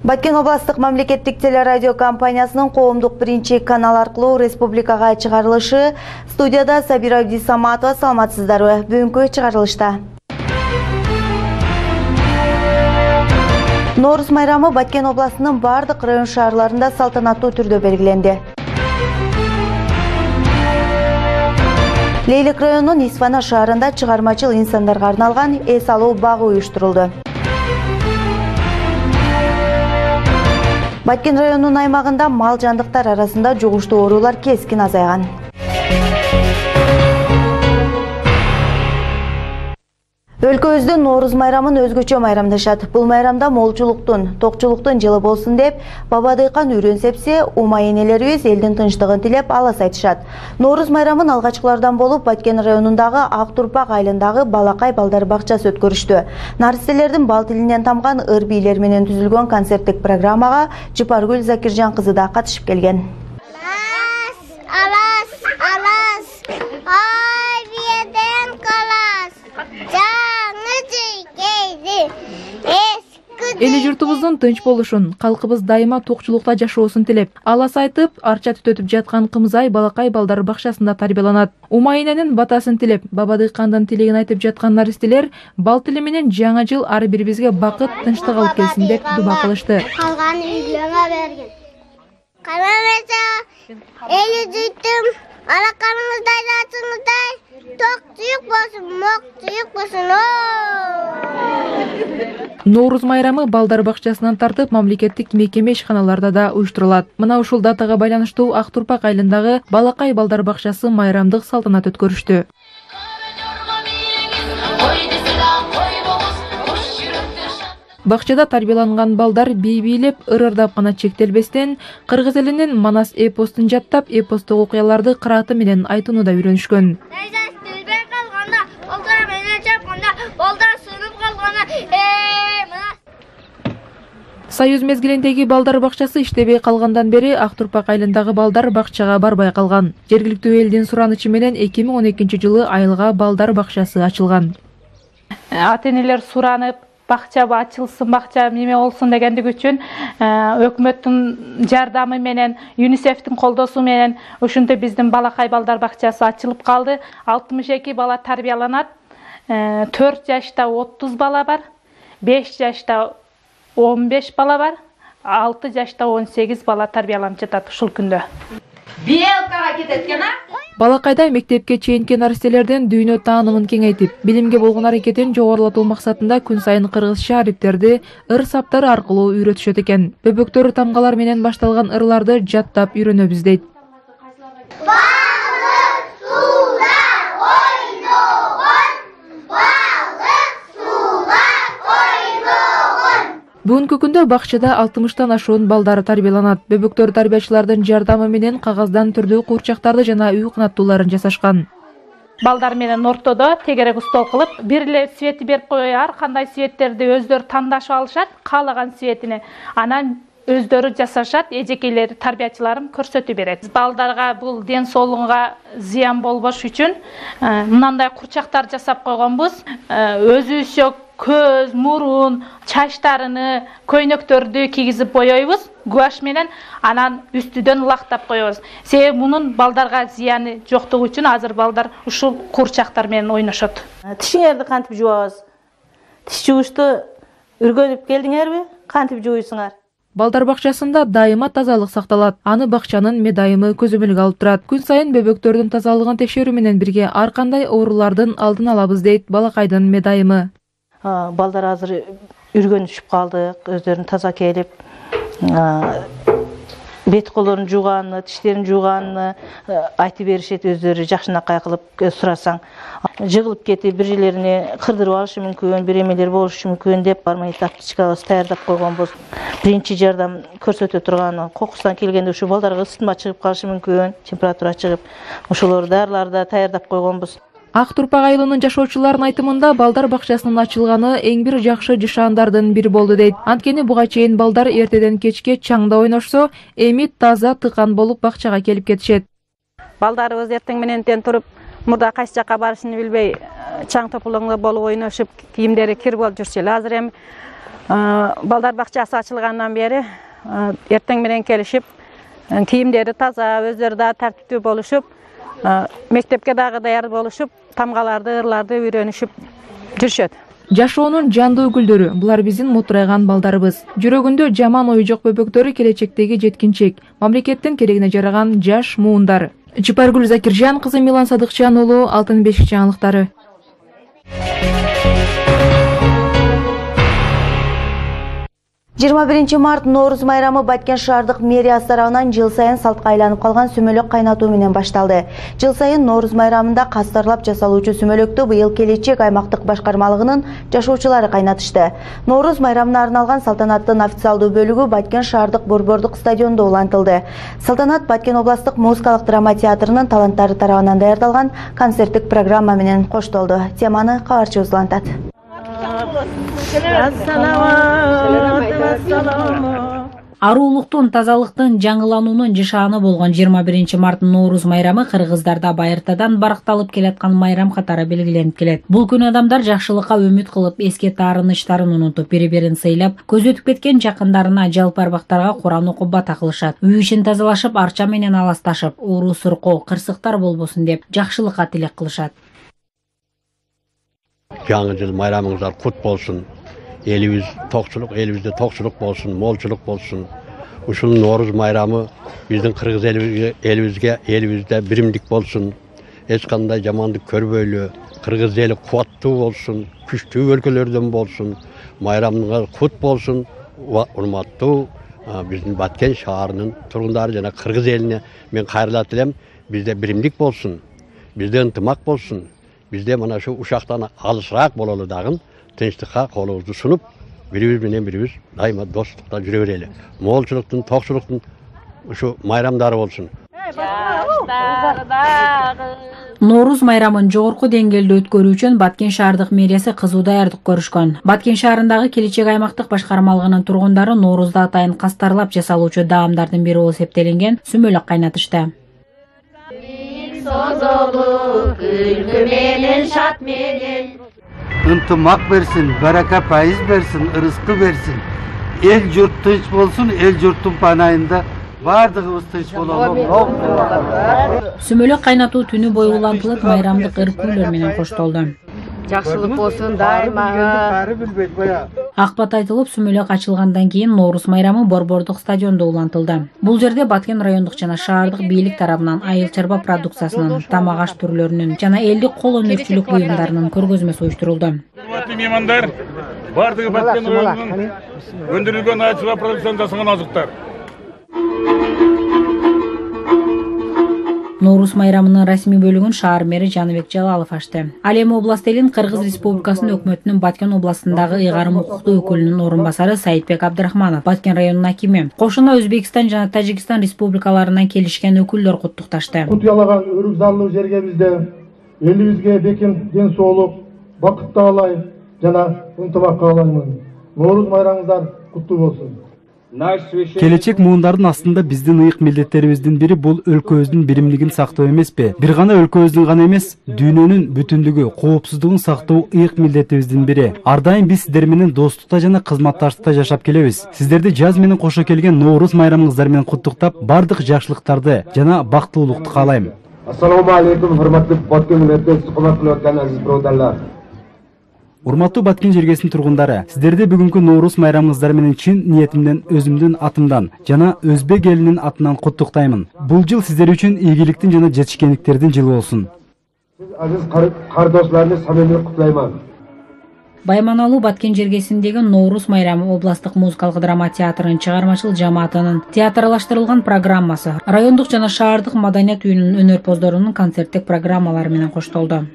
Баткен областык мамлекеттик телерадио компаниясынын коомдук биринчи канал аркылуу республикага чыгарылышы. Студияда Сабира Абдисаматова. Саламатсыздарбы? Бүгүнкү чыгарылышта. Нооруз майрамы Баткен областынын бардык район шаарларында салтанаттуу түрдө белгиленди. Лейлик районунун Исфана шаарында чыгармачыл инсандарга арналган эс алуу багы уюштурулду. Баткен районунун аймагында мал жандыктар арасында жугуштуу оорулар кескин азайган. Өлкөбүздө Нооруз майрамын өзгөчө майрамдашат. Бул майрамда молчулуктун, токчулуктун жылы болсун деп, баба дыйкан үйрөнсепсе, ума энелерибиз элдин тынчтыгын тилеп алас айтышат. Нооруз майрамын алгачкылардан болуп Баткен районундагы Ак Турпак айылындагы балакай балдар бакчасы өткөрүштү. Наристелердин бал тилинен тамган ыр бийлер менен түзүлгөн концерттик программага Жыпаргүл Закиржан кызы да катышып келген. Эли журтубуздун тынч болушун, калкыбыз дайыма токчулукта жашоосун тилеп, алас айтып, арча түтөтүп жаткан Кымзай балакай балдар бакчасында тарбияланат. Ума эненин батасын тилеп, баба дыйкандын тилегин айтып жаткан наристелер бал тили менен жаңы жыл ар бирибизге бакыт, тынчтык алып келсин деп дуба кылышты. Калган үйлөргө берген. Карамаса, эли жыйттым, алакарыңыздай жатыңыздай, ток жүйүк болсун, мок жүйүк болсун. Нооруз майрамы балдар бакчасынан тартып мамлекеттик мекеме ишканаларда да уюштурулат. Мына ушул датага байланыштуу Ак Турпак айылындагы балакай балдар бакчасы майрамдык салтанат өткөрүштү. Бакчада тарбияланган балдар бий бийлеп, ырырдап гана чектелбестен, кыргыз элинин Манас эпостун жаттап, эпостук окуяларды кырааты менен айтууну да үйрөнүшкөн. Союз мезгилиндеги балдар бакчасы иштебей калгандан бери Ак Турпак айылындагы балдар бакчага барбай калган. Жергиликтүү элдин суранычы менен 2012-жылы айылга балдар бакчасы ачылган. Ата-энелер суранып, бакча ачылсын, бакча неме болсун дегендик үчүн өкмөттүн жардамы менен, ЮНИСЕФтин колдоосу менен ушинтип биздин балакай балдар бакчасы ачылып калды. 62 бала тарбияланат. 4 жашта 30 бала бар, 5 жашта 15 бала бар, 6 жашта 18 бала тарбияланып жатат ушул күндө. Биелкага кететкена? Балакайда мектепке чейинки наристелердин дүйнө таанымын кеңейтип, билимге болгон аракетин жогорулатуу максатында күн сайын кыргызча арипттерди ыр саптары аркылуу үйрөтүшөт экен. Бөбөктөр тамгалар менен башталган ырларды жаттап үйрөнөбүз дейт. Бүгүнкү күндө бакчада 60тан ашуун балдар тарбияланат. Бөбөктөр тарбиячылардын жардамы менен кагаздан түрдүү курчактарды жана үй канаттууларын жасашкан. Балдар менен ортодо тегерек стол кылып, бир эле светти берип коёр, кандай светтерди өздөрү тандашып алышат, каалаган светине. Анан өздөрү жасашат, эжекейлери тарбиячыларым көрсөтүп берет. Балдарга бул ден соолугунга зыян болбош үчүн мындай курчактар жасап койгонбуз. Өзүбүзчө көз, мурун, чачтарыны, көйнөктөрдү кийгизип боёйбуз гуаш менен, анан үстүдөн лактап коебуз. Себеби мунун балдарга зыяны жоктугу үчүн азыр балдар ушул курчактар менен ойношот. Тишиңерди кантип жуабыз? Тиш жуушту үргөнүп келдиңерби? Кантип жууйсуңар? Балдар бакчасында дайыма тазалык сакталат. Аны бакчанын медайымы көзөмөлгө алып турат. Күн сайын бөбөктөрдүн тазалыгын текшерүү менен бирге ар кандай оорулардын алдын алабыз дейт балакайдын медайымы. Балдар азыр үргөнүшүп калды, өздөрүн таза келип, бет колорун жууганын, тиштерин жууганын айтып беришет, өздөрү жакшынакай кылып сурасаң. Жыгылып кетип, бир жерлерине кырдырып алышы мүмкүн, бир эмелер болушу мүмкүн деп бармай таптичкабыз даярдап койгонбуз. Биринчи жардам көрсөтө турган, кокустан келгенде ушу балдарга ысытма чыгып калышы мүмкүн, температура чыгып, ошолор дарыларды да даярдап койгонбуз. Ак Турпак айылынын жашоочуларынын айтымында балдар бакчасынын ачылганы эң бир жакшы жышаандардын бири болду дейт. Анткени буга чейин балдар эртеден кечке чаңда ойношсо, эми таза тыкан болуп бакчага келип кетишет. Балдарыбыз эртең мененден туруп, мурда кайсы жакка барышын билбей, чаң тополоңдо болуп ойношуп, кийимдери кир болуп жүрчү эле. Азыр эми Балдар бакчасы ачылгандан бери эртең менен келишип, кийимдери таза, өздөрү да тартиптүү болушуп, мектепке дагы даяр болушуп, тамгаларды, ырларды үйрөнүшүп жүрүшөт. Жашоонун жандуу гүлдөрү булар биздин мутурайган балдарыбыз. Жүрөгүндө жаман ою жок бөбөктөрү келечектеги жеткинчек, мамлекеттин керегине жараган жаш муундар. Чыпаргүл Закиржан кызы Милан Садыкчан уулу, Алтын бешик жаңылыктары. 21 март Норуз майрамы Баткен шаардык мэриясы тарабынан жыл сайын салтка айланып калган сүмөлөк кайнатуу менен башталды. Жыл сайын Норуз майрамында кастарлап жасалуучу сүмөлөктү быйыл келечек аймактык башкармалыгынын жашоочулары кайнатышты. Норуз майрамына арналган салтанаттын официалдуу бөлүгү Баткен шаардык борбордук стадиондо улантылды. Салтанат Баткен областык музыкалык драма театрынын таланттары тарабынан даярдалган концерттик программа менен коштолду. Теманы кабарчыбыз улантат. Аруулуктун, тазалыктын, жаңылануунун жышааны болгон 21 март Норуз майрамы кыргыздарда байыртадан баркталып келаткан майрам катары белгиленип келет. Бул күн адамдар жакшылыкка үмүт кылып, эске таарынычтарын унутуп, бири-бирин сыйлап, көзү өтүп кеткен жакындарына, жалпы арбактарга Куран окуп бата кылышат. Үй ишин тазалашып, арча менен аласташып, ууру суркоо, кырсыктар болбосун деп жакшылыкка тилек кылышат. Жаңы жыл майрамыңыздар кут болсун. Элибиз токчулук, элибизде токчулук болсун, молчулук болсун. Ушул Норуз майрамы биздин кыргыз элибизде биримдик болсун. Эч кандай жамандык көрбөйлү, кыргыз эли кубаттуу болсун, күчтүү өлкөлөрдөн болсун. Майрамыңар кут болсун. Урматтуу биздин Баткен шаарынын тургундары жана кыргыз элине мен кайрылат элем. Бизде биримдик болсун. Бизде ынтымак болсун. Бизде мына шу ушактан алысыраак бололу дагы тынчтыкка колубузду сунуп, бирибиз менен бирибиз дайыма достукта жүрө берели. Молчулуктун, токчулуктун ушу майрамдары болсун. Норуз майрамын жогорку деңгээлде өткөрүү үчүн Баткен шаардык мэриясы кызуу даярдык көрүшкөн. Баткен шаарындагы келечек аймактык башкармалыгынын тургундары Норузда атайын кастарлап жасалуучу даамдардын бири болуп эсептелинген сүмөлөк кайнатышты. Ынтымак берсин, барака пайыз берсин, ырыскы берсин. Эл журт тынч болсун, эл журттун панайында бардыгыбыз тынч бололу. Сүмөлөк кайнатуу түнү бою улантылып, майрамдык ыркүүлөр менен коштолду. Жакшылык болсун дайыма. Акбат айтылып, сүмөлөк ачылгандан кийин Норуз майрамы борбордук стадиондо улантылды. Бул жерде Баткен райондук жана шаардык бийлик тарабынан айыл чарба продукциясынын, тамак аш түрлөрүнүн жана элдик кол өнөрчүлүк буюмдарынын көргөзмөсү уюштурулду. Урматтуу меймандар, бардыгы Баткен районунун өндүрүлгөн айыл чарба продукциясын жасаган азыктар. Норуз майрамынын расмий бөлүгүн шаар мэри Жаныбек Жалалов ачты. Ал эми област элин Кыргыз Республикасынын өкмөтүнүн Баткен областындагы ыйгарым укуктуу өкүлүнүн орун басары Саитбек Абдрахманов, Баткен районунун акими. Кошуна Өзбекстан жана Тажикстан республикаларынан келишкен өкүлдөр куттукташты. Кут ялаган өрүк заллуу жерге бизде элибизге бекем ден соолук, бакыт каалайм жана ынтымак каалаймын. Норуз майрамыңыздар куттуу болсун. Келечек муундардын астында биздин ыйык милдеттерибиздин бири бул өлкөбүздүн биримдигин сактоо эмеспи? Бир гана өлкөбүздүн гана эмес, дүйнөнүн бүтүндүгү, коопсуздугун сактоо ыйык милдетибиздин бири. Ар дайым биз сиздер менен достукта жана кызматташтыкта жашап келебиз. Сиздерди жаз менен кошо келген Норуз майрамыңыздар менен куттуктап, бардык жакшылыктарды жана бактылуулукту каалайм. Ассаламу алейкум, урматтуу Баткен милдеттер, сукмат кылып өткөн азиз бродерлар. Урматтуу Баткен жергесинин тургундары, сиздерди бүгүнкү Норуз майрамыңыздар менен чын ниетимден, өзүмдүн атымдан жана өзбек элинин атынан куттуктаймын. Бул жыл сиздер үчүн ийгиликтин жана жетишкендиктердин жылы болсун. Азиз кардоштарымды самимий кутлайман. Байманалуу Баткен жергесиндеги Норуз майрамы областык музыкалык драма театрынын чыгармачыл жамаатынын театрлаштырылган программасы, райондук жана шаардык маданият үйүнүнүн өнөрпоздорунун концерттик программалары менен коштолду.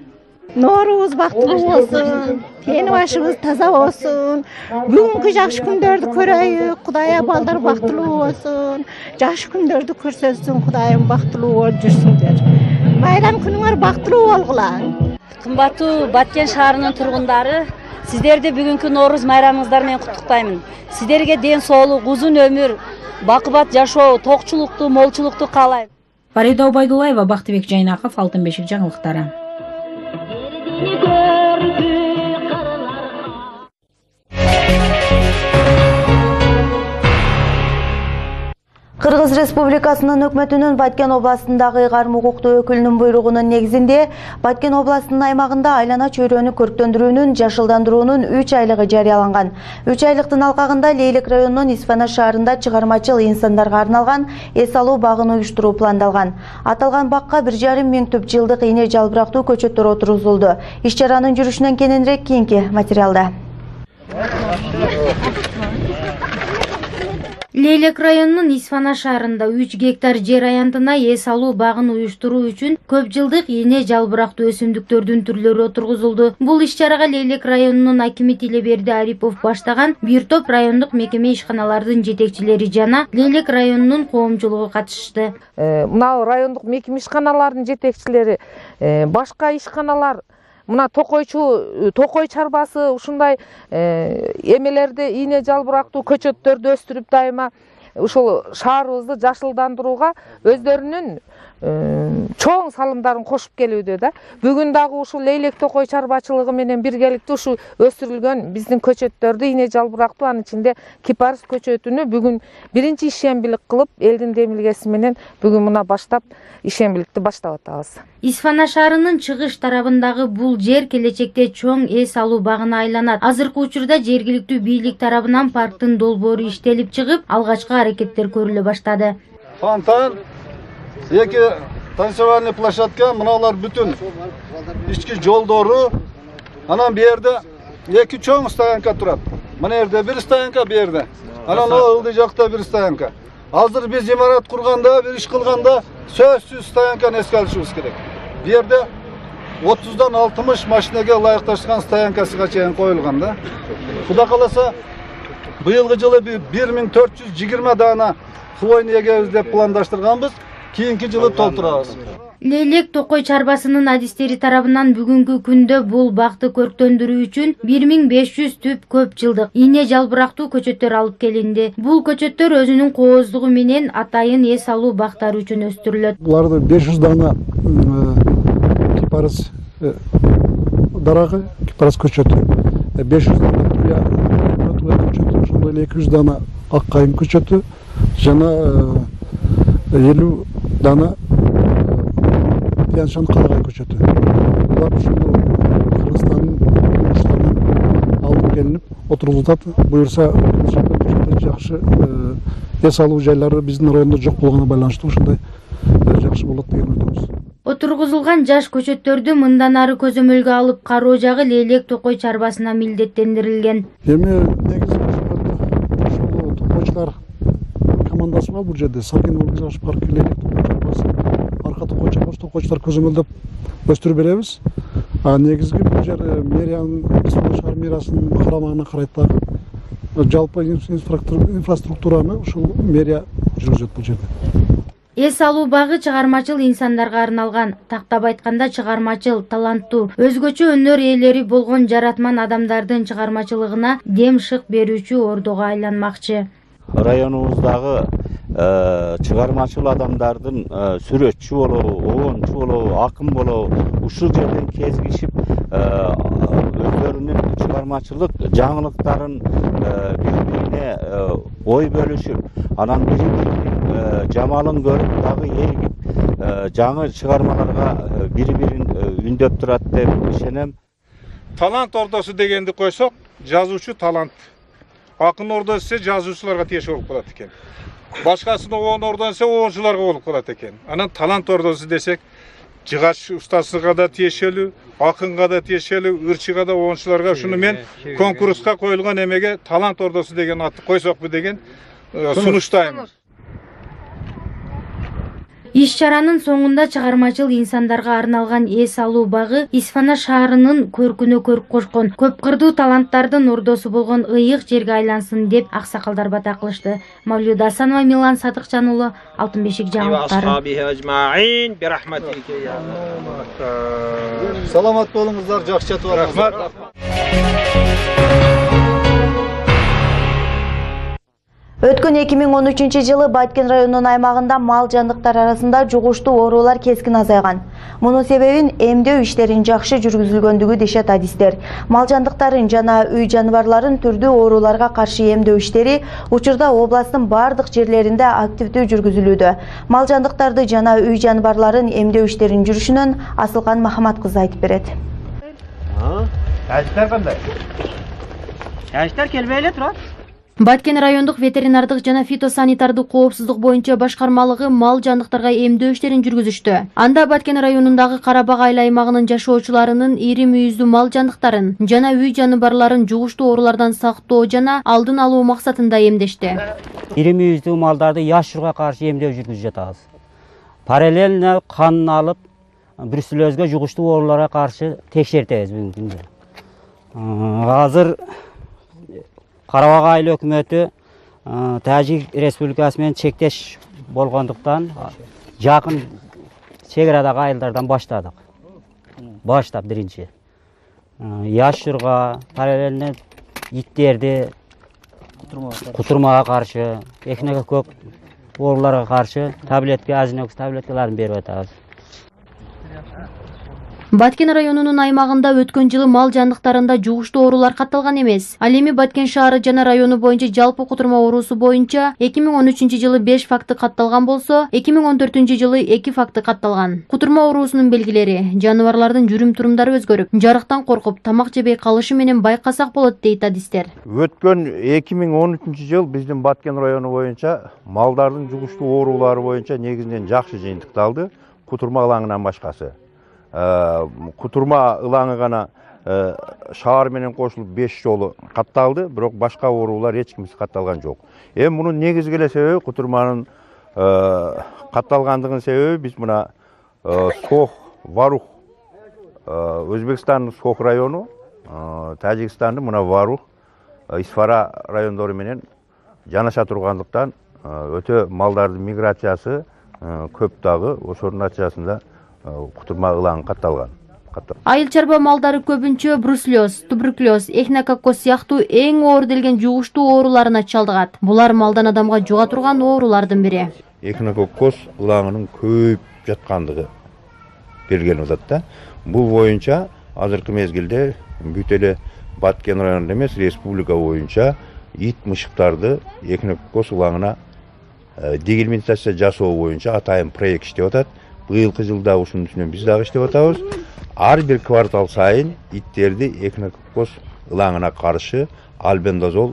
Норуз бактылуу болсун, тени башыбыз таза болсун, бүгүнкү жакшы күндөрдү көрөйүк, Кудайым балдар бактылуу болсун, жакшы күндөрдү көрсөтсүн, Кудайым бактылуу болуп жүрсүңөр. Майрам күнүңөр бактылуу болгула. Кымбаттуу Баткен шаарынын тургундары, сиздерди бүгүнкү Норуз майрамыңыздар менен куттуктаймын. Сиздерге ден соолук, узун өмүр, бакыбат жашоо, токчулукту, молчулукту каалайм. Фарида Убайдуллаева, Бактыбек Жайнаков, Алтын бешик жаңылыктары. Кыргыз Республикасынын өкмөтүнүн Баткен областындагы ыйгарым укуктуу өкүлүнүн буйругунун негизинде Баткен областынын аймагында айлана чөйрөнү көрктөндүрүүнүн жашылдандыруунун 3 айлыгы жарыяланган. 3 айлыктын алкагында Лейлек районунун Исфана шаарында чыгармачыл инсандарга арналган эс алуу багын уюштуруу пландалган. Аталган бакка 1,5 миң түп жылдык ийне жалбырактуу көчөттөр отургузулду. Иш чаранын жүрүшүнөн кененирээк кийинки материалда. Лейлек районунун Исфана шаарында 3 гектар жер аянтына эс алуу багын уюштуруу үчүн көп жылдык ийне жалбырактуу өсүмдүктөрдүн түрлөрү отургузулду. Бул иш чарага Лейлек районунун акими Тилеберди Арипов баштаган бир топ райондук мекеме ишканалардын жетекчилери жана Лейлек районунун коомчулугу катышты. Мына райондук мекеме ишканалардын жетекчилери, башка ишканалар, мына токой чарбасы ушундай эмелерди, ийне жалбырактуу көчөттөрдү өстүрүп дайыма ушул шаарыбызды жашылдандырууга өздөрүнүн чоң салымдарын кошуп келүүдө да. Бүгүн дагы ушул Лейлек токой чарбачылыгы менен биргеликте ушу өстүрүлгөн биздин көчөттөрдү, ийне жалбырактуу, анын ичинде кипарис көчөтүнү бүгүн биринчи ишембилик кылып, элдин демилгеси менен бүгүн мына баштап ишембиликти баштап атабыз. Исфана шаарынын чыгыш тарабындагы бул жер келечекте чоң эс алуу багына айланат. Азыркы учурда жергиликтүү бийлик тарабынан парктын долбоору иштелип чыгып, алгачкы аракеттер көрүлө баштады. Фонтан, эки танцевальный площадка, мыналар бүтүн ички жолдору, анан бу жерде эки чоң стоянка турат. Мына жерде бир стоянка, бу жерде. Анан ылдый жакта бир стоянка. Азыр биз имарат курганда, бир иш кылганда сөзсүз стоянканы эске алышыбыз керек. Бу жерде 30дан 60 машинеге ылайыкташкан стоянкасыга чейин коюлган да. Кудай кааласа, быйылгы жылы 1420 дана хвойный эгебиз деп пландаштырганбыз. Кийинки жылы толтурабыз. Лейлек токой чарбасынын адистери тарабынан бүгүнкү күндө бул бакты көрктөндүрүү үчүн 1500 түп көп жылдык ийне жалбырактуу көчөттөр алып келинди. Бул көчөттөр өзүнүн кооздугу менен атайын эс алуу бактары үчүн өстүрүлөт. Буларды 500 дана кипарис дарагы, кипарис көчөтү, 500 дана туя көчөтү, ошондой 200 дана ак кайын көчөтү жана 50 дана Тяншан карагай көчөтү. Булар ушул Кыргызстандын уюштарынан алып келинип отурулат. Буюрса жакшы эс алуу жайлары биздин райондо жок болгонуна байланыштуу ушундай жакшы болот деген ойдобуз. Отургузулган жаш көчөттөрдү мындан ары көзөмөлгө алып кароо жагы Лейлек токой чарбасына милдеттендирилген. Эми негизи ушул токойчулар командасы бар бул жерде. Сабин Олгизаш парк Лейлек токой чарбасы, арка токой чарбасы, токойчулар көзөмөлдөп өстүрүп беребиз. Негизги бул жер мэриянын, Исфана шаар мэриясынын карамагына карайт дагы. Жалпы инфраструктураны ушул мэрия жүргүзөт бул жерде. Эс алуу багы чыгармачыл инсандарга арналган. Тактап айтканда чыгармачыл, таланттуу, өзгөчө өнөр ээлери болгон жаратман адамдардын чыгармачылыгына дем шык берүүчү ордого айланмакчы. Районубуздагы чыгармачыл адамдардын сүрөтчү болобу, оончу болобу, акын болобу ушул жерден кезигишип өздөрүнүн чыгармачылык жаңылыктарын бири-бирине ой бөлүшүп, анан бири-биринин жамалын көрүп дагы ээригип жаңы чыгармаларга бири-бирин үндөп турат деп ишенем. Талант ордосу дегенди койсок, жазуучу талант. Акын ордосу десе жазуучуларга тиеши болуп калат экен. Башкасын оон ордон десе оончуларга болуп калат экен. Анан талант ордосу десек, жыгач устасыга да тиешелүү, акынга да тиешелүү, ырчыга да, оончуларга ушуну мен конкурска коюлган эмеге талант ордосу деген атты койсокпу деген сунуштайм. Иш чаранын соңунда чыгармачыл инсандарга арналган эс алуу багы Исфана шаарынын көркүнө көрк кошкон, көп кырдуу таланттардын ордосу болгон ыйык жерге айлансын деп аксакалдар бата кылышты. Мавлюда Асанова, Милан Садыкчан уулу, Алтын бешик жаңылыктары. Саламат болуңуздар, жакшы жатып алыңыздар. Өткөн 2013-жылы Баткен районунун аймагында мал жандыктар арасында жугуштуу оорулар кескин азайган. Мунун себебин эмдөө иштерин жакшы жүргүзүлгөндүгү дешет адистер. Мал жандыктарын жана үй жаныбарларын түрдүү ооруларга каршы эмдөө иштери учурда областтын бардык жерлеринде активдүү жүргүзүлүүдө. Мал жандыктарды жана үй жаныбарларын эмдөө иштерин жүрүшүнөн Асылкан Махамат кызы айтып берет. Кайсыздар кандай? Кайсыздар келбей эле турат. Баткен райондук ветеринардык жана фитосанитардык коопсуздук боюнча башкармалыгы мал жандыктарга эмдөө иштерин жүргүзүштү. Анда Баткен районундагы Карабак айыл аймагынын жашоочуларынын ири мүйүздүү мал жандыктарын жана үй жаныбарларын жугуштуу оорулардан сактоо жана алдын алуу максатында эмдешти. Ири мүйүздүү малдарды яшурга каршы эмдөө жүргүзүп жатабыз. Параллельно канын алып, бруцеллезге жугуштуу ооруларга каршы текшертебиз бүгүнкү күндө. Азыр Карабак айыл өкмөтү Тажик Республикасы менен чектеш болгондуктан жакын чек арадагы айылдардан баштадык. Баштап биринчи. Яшурга, параллельно иттерди кутурмага каршы, эхинококк ооруларга каршы таблетка, азинокс таблеткаларын берип атабыз. Баткен районунун аймагында өткөн жылы мал жандыктарында жугуштуу оорулар катталган эмес. Ал эми Баткен шаары жана району боюнча жалпы кутурма оорусу боюнча 2013-жылы 5 факты катталган болсо, 2014-жылы 2 факты катталган. Кутурма оорусунун белгилери: жаныбарлардын жүрүм-турумдары өзгөрүп, жарыктан коркуп, тамак жебей калышы менен байкасак болот дейт адистер. Өткөн 2013-жыл биздин Баткен району боюнча малдардын жугуштуу оорулары боюнча негизинен жакшы жыйынтыкталды, кутурма ылаңынан башкасы. Кутурма ылаңы гана шаар менен кошулуп 5 жолу катталды, бирок башка оорулар эч кимиси катталган жок. Мунун негизги эле себеби кутурманын катталгандыгынын себеби биз мына Сох, Варух, Өзбекстандын Сох району, Тажикстандын мына Варух, Исфара райондору менен жанаша тургандыктан өтө малдардын миграциясы көп дагы, ошонун натыйжасында кутурма ылаңы катталган. Айыл чарба малдары көбүнчө бруцеллез, туберкулез, эхинококк сыяктуу эң оор делген жугуштуу ооруларына чалдыгат. Булар малдан адамга жуга турган оорулардын бири. Эхинококк ылаңынын көбөйүп жаткандыгы белгиленип атат да. Бул боюнча азыркы мезгилде бүт эле Баткен районунда эмес, республика боюнча ит мышыктарды эхинококк ылаңына дегельминтация жасоо боюнча атайын проект иштеп атат. Быйылкы жылда ушунун үстүнөн биз дагы иштеп атабыз. Ар бир квартал сайын иттерди эхинококк ылаңына каршы альбендазол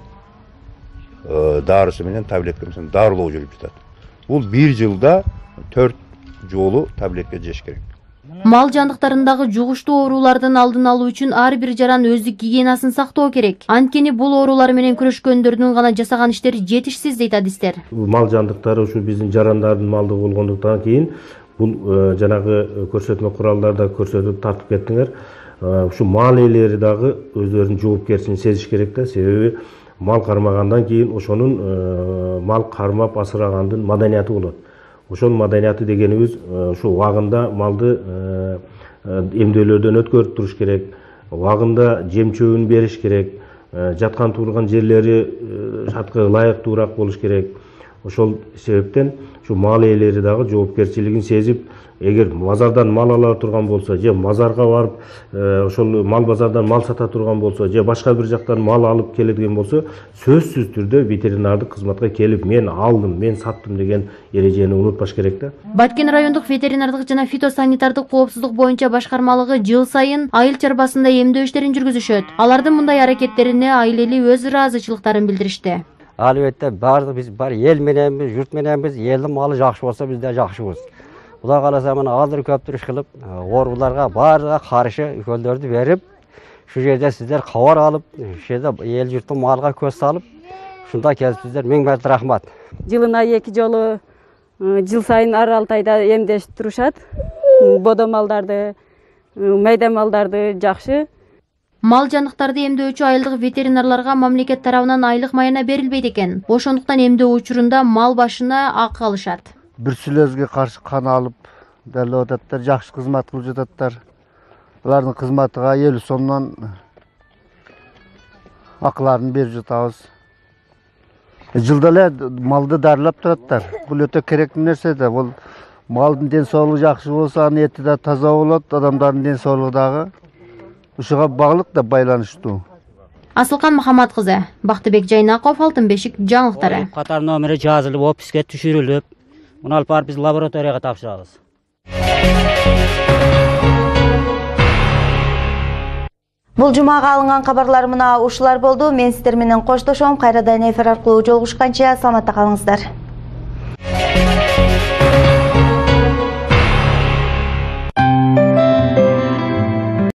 дарысы менен таблетка менен дарылоо жүрүп жатат. Бул бир жылда 4 жолу таблетка жеш керек. Мал жандыктарындагы жугуштуу оорулардын алдын алуу үчүн ар бир жаран өздүк гигиенасын сактоо керек. Анткени бул оорулар менен күрөшкөндөрдүн гана жасаган иштери жетишсиз дейт адистер. Мал жандыктары ушу биздин жарандардын малдыгы болгондуктан кийин бул жанагы көрсөтмө куралдарда көрсөтүп тартып кеттиңер. Ушу мал ээлери дагы өздөрүнүн жоопкерчилигин сезиш керек да. Себеби мал кармагандан кийин ошонун мал кармап асырагандын маданияты болот. Ошонун маданияты дегенибиз ушу убагында малды эмдөөлөрдөн өткөрүп туруш керек, убагында жем чөбүн бериш керек, жаткан турган жерлери шарткы ылайыктуураак болуш керек. Ошол себептен ушу мал ээлери дагы жоопкерчилигин сезип, эгер базардан мал ала турган болсо, же базарга барып, ошол мал базардан мал сата турган болсо, же башка бир жактан мал алып келген болсо, сөзсүз түрдө ветеринардык кызматка келип, мен алдым, мен саттым деген эрежени унутпаш керек да. Баткен райондук ветеринардык жана фитосанитардык коопсуздук боюнча башкармалыгы жыл сайын айыл чарбасында эмдөө иштерин жүргүзүшөт. Алардын мындай аракеттерине айыл эли өз ыраазычылыктарын билдиришти. Албетте баардык биз бар эл мененбиз, журт мененбиз, элдин малы жакшы болсо биз да жакшыбыз. Кудай кааласа мына азыр көптүр иш кылып, ооруларга баарыга каршы ükөлдөрдү берип, шу жерде сиздер кабар алып, шу жерде эл журттун малга көз салып, ушунда келипсиздер. Миң марта рахмат. Жылына 2 жолу жыл сайын ар 6 айда эмдешип турушат. Бодо малдарды, майда малдарды жакшы. Мал жандыктарды эмдөөчү айылдык ветеринарларга мамлекет тарабынан айлык майына берилбейт экен. Ошондуктан эмдөө учурунда мал башына акы алышат. Бруцеллезге каршы кан алып дәрілеп ататтар, жакшы кызмат кылып жататтар. Булардын кызматыга 50 сомдон акыларын берип жатабыз. Жылда эле малды дарылап тураттар. Бул өтө керектүү нерсе да. Бул малдын ден соолугу жакшы болсо, анын эти да таза болот, адамдардын ден соолугу дагы ушуга баглык да байланыштуу. Асылкан Мухаммад кызы, Бактыбек Жайнаков, Алтын бешик жаңылыктары. Катар номери жазылып, описке түшүрүлүп, муну алып барып биз лабораторияга тапшырабыз. Бул жумага алынган кабарлар мына ушулар болду. Мен сиздер менен коштошом. Кайрадан эфир аркылуу жолугушканча саламатта калыңыздар.